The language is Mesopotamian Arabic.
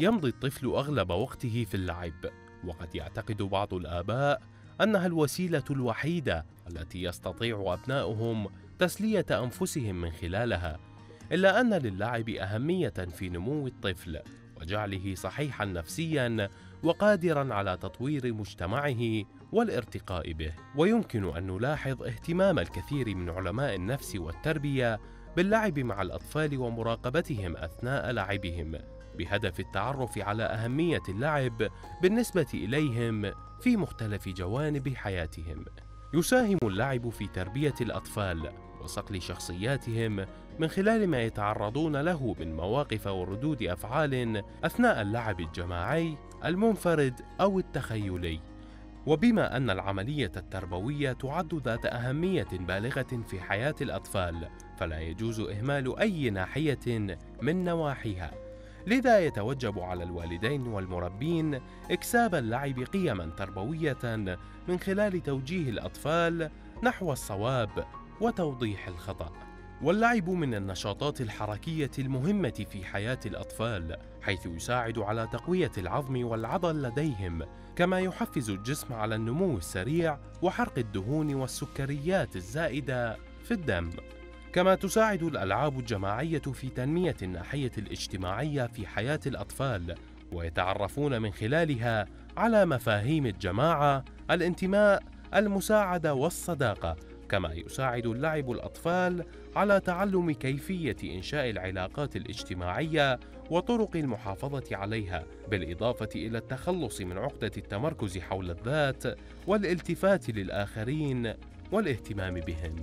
يمضي الطفل أغلب وقته في اللعب، وقد يعتقد بعض الآباء أنها الوسيلة الوحيدة التي يستطيع أبناؤهم تسلية أنفسهم من خلالها، إلا أن للعب أهمية في نمو الطفل وجعله صحيحاً نفسياً وقادراً على تطوير مجتمعه والارتقاء به. ويمكن أن نلاحظ اهتمام الكثير من علماء النفس والتربية باللعب مع الأطفال ومراقبتهم أثناء لعبهم، بهدف التعرف على أهمية اللعب بالنسبة إليهم في مختلف جوانب حياتهم. يساهم اللعب في تربية الأطفال وصقل شخصياتهم من خلال ما يتعرضون له من مواقف وردود أفعال أثناء اللعب الجماعي، المنفرد أو التخيلي. وبما أن العملية التربوية تعد ذات أهمية بالغة في حياة الأطفال، فلا يجوز إهمال أي ناحية من نواحيها، لذا يتوجب على الوالدين والمربين إكساب اللعب قيماً تربوية من خلال توجيه الأطفال نحو الصواب وتوضيح الخطأ. واللعب من النشاطات الحركية المهمة في حياة الأطفال، حيث يساعد على تقوية العظم والعضل لديهم، كما يحفز الجسم على النمو السريع وحرق الدهون والسكريات الزائدة في الدم. كما تساعد الألعاب الجماعية في تنمية الناحية الاجتماعية في حياة الأطفال، ويتعرفون من خلالها على مفاهيم الجماعة، الانتماء، المساعدة والصداقة. كما يساعد اللعب الأطفال على تعلم كيفية إنشاء العلاقات الاجتماعية وطرق المحافظة عليها، بالإضافة إلى التخلص من عقدة التمركز حول الذات والالتفات للآخرين والاهتمام بهم.